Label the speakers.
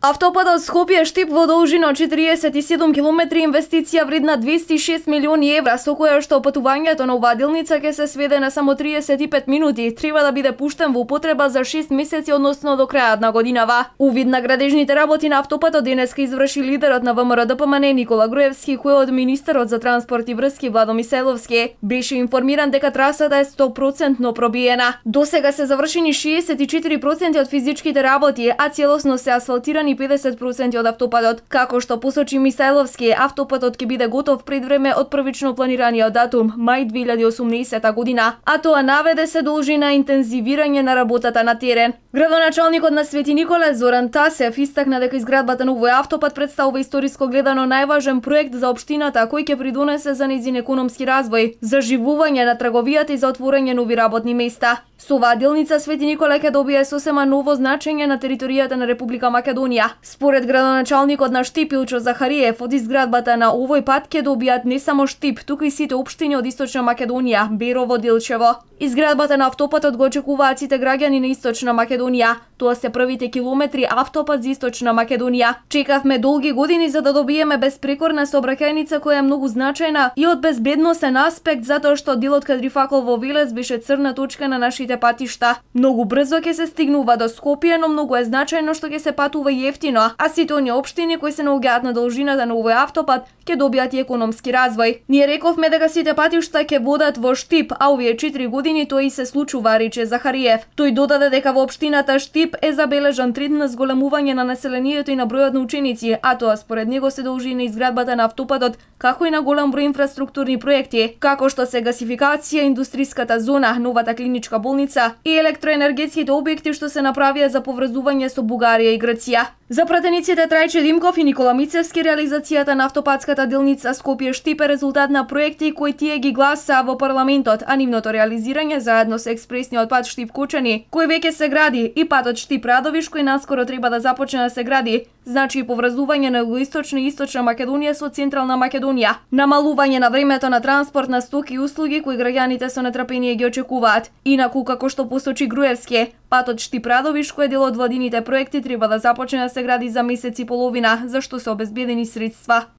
Speaker 1: Автопатот Скопје-Штип во должина 47 километри, инвестиција вредна 206 милиони евра, со која што патувањето на оваа делница ќе се сведе на само 35 минути, треба да биде пуштен во употреба за 6 месеци, односно до крајот на годинава. Увид на градежните работи на автопатот денеска изврши лидерот на ВМРО-ДПМН Никола Груевски, кој од министерот за транспорт и врски Владо Мисајловски беше информиран дека трасата е 100% пробиена. Досега се завршени 64% од физичките работи, а целосно се асфалтирани 50% од автопатот. Како што посочи Мисајловски, автопатот ќе биде готов пред време од првично планираниот датум, мај 2018 година, а тоа наведе се должи на интензивирање на работата на терен. Градоначалникот на Свети Николе Зоран Тасев истакна дека изградбата на овој автопат представува историско гледано најважен проект за општината кој ќе придонесе за нејзин економски развој, за живување на трговијата и за отворање нови работни места. Со оваа делница Свети Николе ќе добие сосема ново значење на територијата на Република Македонија. Според градоначалникот на Штип Илчо Захариев, од изградбата на овој пат ќе добијат не само Штип, туку и сите општини од Источна Македонија, Берово, Делчево. Изградбата на автопатот го очекуваат сите граѓани на Источна Македонија. Тоа се првите километри автопат за Источна Македонија. Чекавме долги години за да добиеме безпрекорна сообраќајница која е многу значајна и од безбедносен аспект, затоа што делот Кадрифакол во Велес беше црна точка на нашите патишта. Многу брзо ќе се стигнува до Скопје, но многу е значајно што ќе се патува и ефтино, а сите оние општини кои се наоѓаат на должината на овој автопат ќе добијат и економски развој. Ние рековме дека сите патишта ќе водат во Штип, а овие 4 години тоа и се случува, рече Захариев. Тој додаде дека во општината Штип е забележан тренд на зголемување на населението и на бројот на ученици, а тоа според него се должи на изградбата на автопатот, како и на голем број инфраструктурни проекти, како што се гасификација, индустриската зона, новата клиничка болница и електроенергетските објекти што се направија за поврзување со Бугарија и Грција. За пратениците Трајче Димков и Никола Мицевски, реализацијата на автопатската делница Скопје-Штип е резултат на проекти кои тие ги гласаа во парламентот, а нивното реализирање заедно со експресниот пат Штип-Кучани, кој веќе се гради, и патот Штип-Радовиш, кој наскоро треба да започне да се гради, значи и поврзување на Југоисточна и Источна Македонија со Централна Македонија, намалување на времето на транспорт на стоки и услуги кои граѓаните со нетрпение ги очекуваат. Инаку, како што посочи Груевски, патот Штип-Радовиш, кој е дел од владините проекти, треба да започне да се гради за месец и половина, за што се обезбедени средства.